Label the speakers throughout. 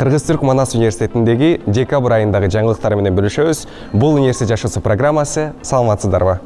Speaker 1: Кыргыз-Түрк Манас университетиндеги декабрь айындагы жаңылыктар менен бөлүшөбүз. Бул университет жашоосу программасы. Саламатсыздарбы?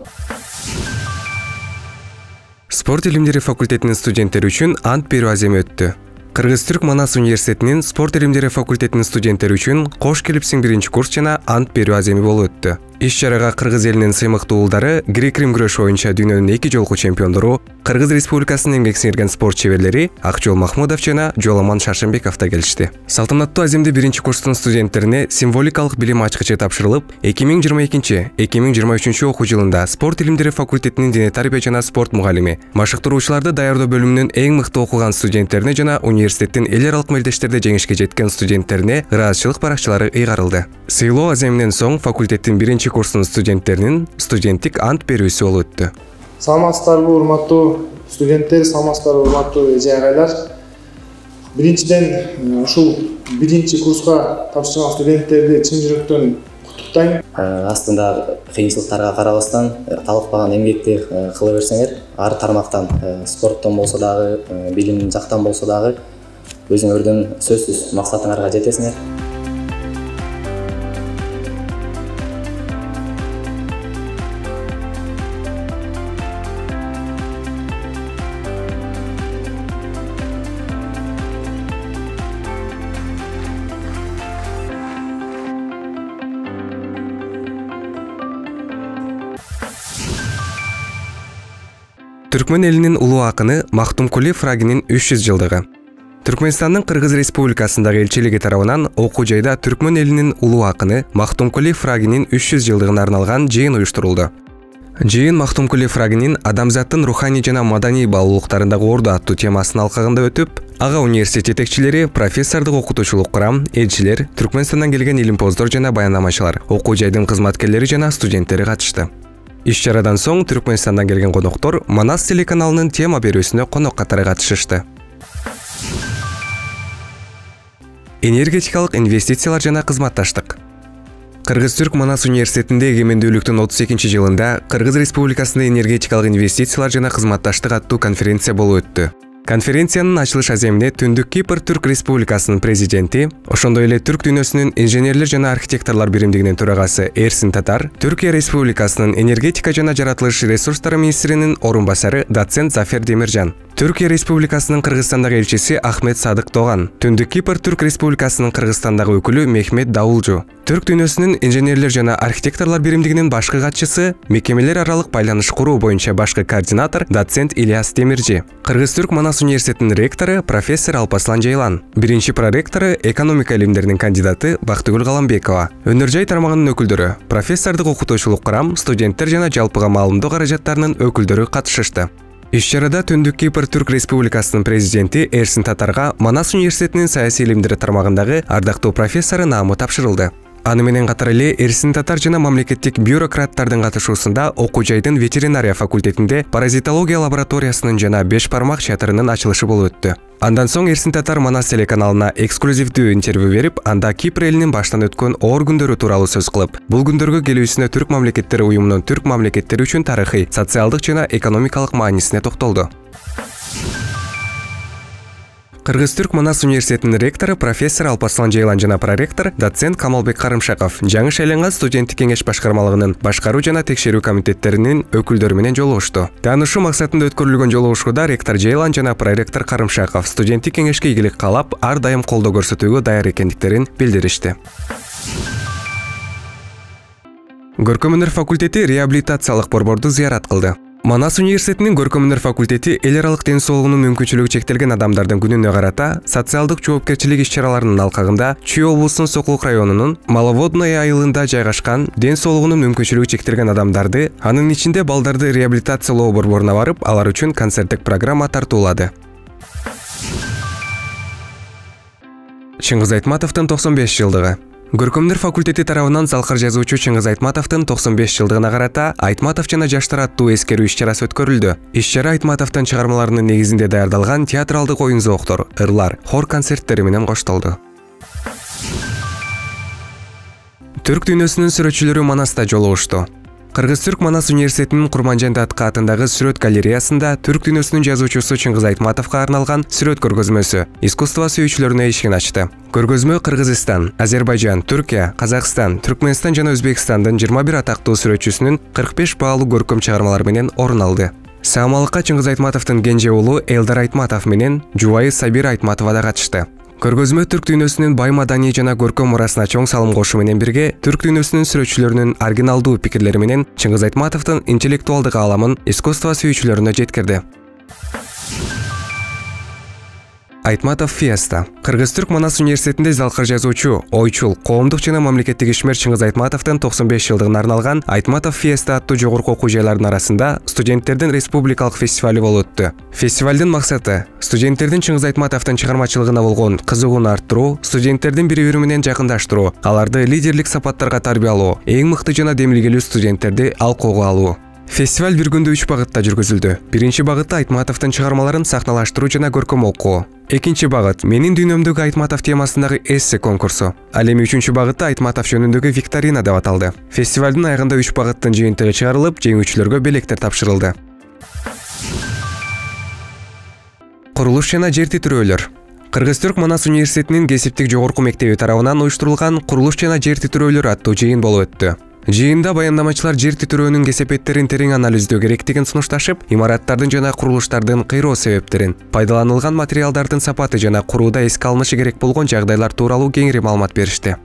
Speaker 1: Спорт илимдери факультетинин студенттери үчүн ант берүү аземи өттү. Кыргыз-Түрк Манас университетинин спорт илимдери факультетинин студенттери үчүн кош келипсиң биринчи курс жана ант берүү аземи болуп өттү. Иш-чарага кыргыз элинин сыймыктуу уулдары, грек-рим күрөшү боюнча дүйнөнүн 2 жолку чемпиондору, Кыргыз Республикасынын эмгек сиңирген спорт чеберлери Акжол Махмудов жана Жоламан Шаршембеков да келишти. Салтанаттуу аземде биринчи курстун студенттерине символикалык билим ачкычы тапшырылып, 2022-2023 окуу жылында спорт илимдери факультетинин дене тарбия жана спорт мугалими, машыктыруучуларды даярдоо бөлүмүнүн эң мыкты окуган студенттерине жана университеттин эл аралык мелдештерде жеңишке жеткен студенттерине ыраазычылык баракчалары ыйгарылды. Сыйлоо аземинен соң факультеттин биринчи курстун студенттеринин студенттик ант берүүсү болуп өттү.
Speaker 2: Саламатсыздарбы, урматтуу студенттер, саламатсыздарбы, урматтуу эже агайлар. Биринчиден ушул биринчи курска тапшырган студенттерди чын жүрөктөн куттуктайм.
Speaker 3: Астында кыйынчылыктарга карабастан талыкпаган эмгекти кыла берсеңер, ар тармактан спорттон болсо дагы, билим жактан болсо дагы өзүңөрдүн сөзсүз максатыңарга жетесиңер.
Speaker 1: Түркмөн элинин улуу акыны Мактумкули Фрагинин 300 жылдыгы. Түркмөнстандын Кыргыз Республикасындагы элчилиги тарабынан окуу жайда Түркмөн элинин улуу акыны Мактумкули Фрагинин 300 жылдыгына арналган жыйын уюштурулду. Жыйын Мактумкули Фрагинин адамзаттын руханий жана маданий баалуулуктарындагы орду аттуу темасынын алкагында өтүп, ага университет жетекчилери, профессордук окутуучулук курам, элчилер, Түркмөнстандан келген илимпоздор жана баяндамачылар, окуу жайдын кызматкерлери жана студенттери катышты. Иш-чарадан соң Түркмөнстандан келген коноктор Манас телеканалынын тема берүүсүнө конок катары катышышты. Энергетикалык инвестициялар жана кызматташтык. Кыргыз-Түрк Манас университетинде эгемендүүлүктүн 32 жылында Кыргыз Республикасында энергетикалык инвестициялар жана кызматташтык аттуу конференция болуп өттү. Конференциянын ачылыш аземине Түндүк Кипр Түрк Республикасынын президенти, ошондой эле Түрк дүйнөсүнүн инженерлер жана архитекторлор биримдигинин төрагасы Эрсин Татар, Түркия Республикасынын энергетика жана жаратылыш ресурстары министринин орун басары доцент Зафер Демиржан, Түркия Республикасынын Кыргызстандагы элчиси Ахмет Садык Тоган, Түндүк Кипр Түрк Республикасынын Кыргызстандагы өкүлү Мехмет Давулжу, Түрк дүйнөсүнүн инженерлер жана архитекторлор биримдигинин башкы катчысы, мекемелер аралык байланыш куруу боюнча башкы координатор доцент Ильяс Демиржи, Кыргыз-Түрк Манас университетинин ректору профессор Алпаслан Жайлан, биринчи проректору экономика илимдеринин кандидаты Бактыгүл Каламбекова, өнөр жай тармагынын өкүлдөрү, профессордук окутуучулук курам, студенттер жана жалпыга маалымдоо каражаттарынын өкүлдөрү катышышты. Иш-чарада Түндүк Кипр Түрк Республикасынын президенти Эрсин Татарга Манас университетинин саясий илимдери тармагындагы ардактуу профессору наамы тапшырылды. Аны менен катар эле Эрсин Татар жана мамлекеттик бюрократтардын катышуусунда окуу жайдын ветеринария факультетинде паразитология лабораториясынын жана 5 бармак чатырынын ачылышы болуп өттү. Андан соң Эрсин Татар Манас телеканалына эксклюзивдүү интервью берип, анда Кипр элинин баштан өткөн оор күндөрү тууралуу сөз кылып, бул күндөргө келүүсүнө Түрк мамлекеттери уюмунун түрк мамлекеттери үчүн тарыхый, социалдык жана экономикалык маанисине токтолду. Кыргыз-Түрк Манас университетинин ректору профессор Алпаслан Жайлан жана проректор доцент Камалбек Карымшаков жаңы шайланган студенттик кеңеш башкармалыгынын башкаруу жана текшерүү комитеттеринин өкүлдөрү менен жолугушту. Таанышуу максатында өткөрүлгөн жолугушууда ректор Жайлан жана проректор Карымшаков студенттик кеңешке ийгилик каалап, ар дайым колдоо көрсөтүүгө даяр экендиктерин билдиришти. Көркөм өнөр факультети реабилитациялык борборду зыярат кылды. Манас университетинин көркөм өнөр факультети эл аралык ден соолугунун мүмкүнчүлүгү чектелген адамдардын күнүнө карата социалдык жоопкерчилик иш-чараларынын алкагында Чүй облусунун Сокулук районунун Маловодное айылында жайгашкан ден соолугунун мүмкүнчүлүгү чектелген адамдарды, анын ичинде балдарды реабилитациялоо борборуна барып, алар үчүн концерттик программа тартуулады. Чыңгыз Айтматовдун 95 жылдыгы. Көркөм өнөр факультети тарабынан залкар жазуучу Чыңгыз Айтматовдун 95 жылдыгына карата Айтматов жана жаштар аттуу эскерүү иш-чарасы өткөрүлдү. Иш-чара Айтматовдун чыгармаларынын негизинде даярдалган театралдык оюн-зооктор, ырлар, хор концерттери менен коштолду. Түрк дүйнөсүнүн сүрөтчүлөрү Манаста жолугушту. Кыргыз-Түрк Манас университетинин Курманжан Датка атындагы сүрөт галереясында түрк дүйнөсүнүн жазуучусу Чыңгыз Айтматовго арналган сүрөт көргөзмөсү искусство сүйүүчүлөрүнө эшигин ачты. Көргөзмө Кыргызстан, Азербайжан, Түркия, Казакстан, Түркмөнстан жана Өзбекстандын 21 атактуу сүрөтчүсүнүн 45 баалуу көркөм чыгармалары менен орун алды. Саамалыкка Чыңгыз Айтматовдун кенже уулу Элдар Айтматов менен жубайы Сабира Айтматова да катышты. Көргөзмө түрк дүйнөсүнүн бай маданий жана көркөм мурасына чоң салым кошуу менен бирге түрк дүйнөсүнүн сүрөтчүлөрүнүн оригиналдуу пикирлери менен Чыңгыз Айтматовдун интеллектуалдык ааламын искусство сүйүүчүлөрүнө жеткирди. Айтматов Фиеста. Кыргыз-Түрк Манас университетинде залкыр жазуучу, ойчул, коомдук жана мамлекеттик ишмер Чыңгыз Айтматовдун 95 жылдыгына арналган Айтматов Фиеста аттуу жогорку окуу жайларынын арасында студенттердин республикалык фестивали болуп өттү. Фестивалдын максаты студенттердин Чыңгыз Айтматовдун чыгармачылыгына болгон кызыгууну арттыруу, студенттердин бири-бири менен жакындаштыруу, аларды лидерлик сапаттарга тарбиялоо, эң мыкты жана демилгелүү студенттерди алкоого алуу. Фестиваль бир күндө 3 багытта жүргүзүлдү. Биринчи багытта Айтматовдун чыгармаларын сахналаштыруу жана көркөм окуу. Экинчи багыт Менин дүйнөмдөгү Айтматов темасындагы эссе конкурсу. Ал эми үчүнчү багытта Айтматов жөнүндөгү викторина деп аталды. Фестивалдын аягында 3 багыттын жыйынтыгы чыгарылып, жеңүүчүлөргө белектер тапшырылды. Курулуш жана жер титирөөлөр. Кыргыз-Түрк Манас университетинин кесиптик жогорку мектеби тарабынан уюштурулган Курулуш жана жер титирөөлөр аттуу жыйын болуп өттү. Жыйында баяндамачылар жер титирөөнүн кесепеттерин терең анализдөө керектигин сунушташып, имараттардын жана курулуштардын кыйроо себептерин, пайдаланылган материалдардын сапаты жана курууда эске алынышы керек болгон жагдайлар тууралуу кеңири маалымат беришти.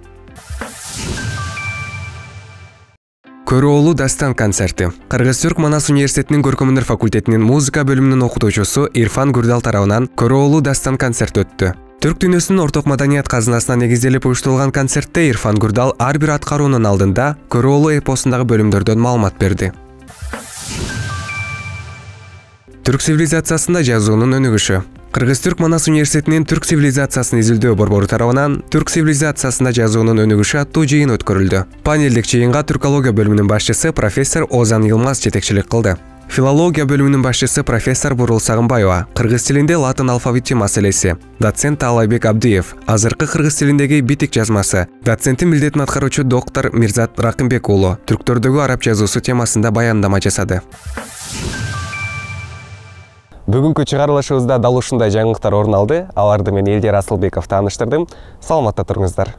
Speaker 1: Көрөолу дастан концерти. Кыргыз-Түрк Манас университетинин көркөмөндөр факультетинин музыка бөлүмүнүн окутуучусу Ирфан Гүрдал тарабынан Көрөолу дастан концерт өттү. Түрк дүйнөсүнүн орток маданият казынасына негизделип уюштурулган концертте Ирфан Гүрдал ар бир аткаруунун алдында Көрөолу эпосундагы бөлүмдөрдөн маалымат берди. Түрк цивилизациясында жазуунун өнүгүшү. Кыргыз-Түрк Манас университетинин түрк цивилизациясын изилдөө борбору тарабынан түрк цивилизациясында жазуунун өнүгүшү аттуу жыйын өткөрүлдү. Панелдик жыйынга түркология бөлүмүнүн башчысы профессор Озан Йылмаз жетекчилик кылды. Филология бөлүмүнүн башчысы профессор Бурул Сагынбаева, кыргыз тилинде латын алфавити маселеси, доцент Таалайбек Абдиев, азыркы кыргыз тилиндеги битик жазмасы, доценттин милдетин аткаруучу доктор Мирзат Ракымбек уулу түрктөрдөгү араб жазуусу темасында баяндама жасады. Бүгүнкү чыгарылышыбызда дал ушундай жаңылыктар орун алды. Аларды мен Элдер Асылбеков тааныштырдым. Саламатта туруңуздар.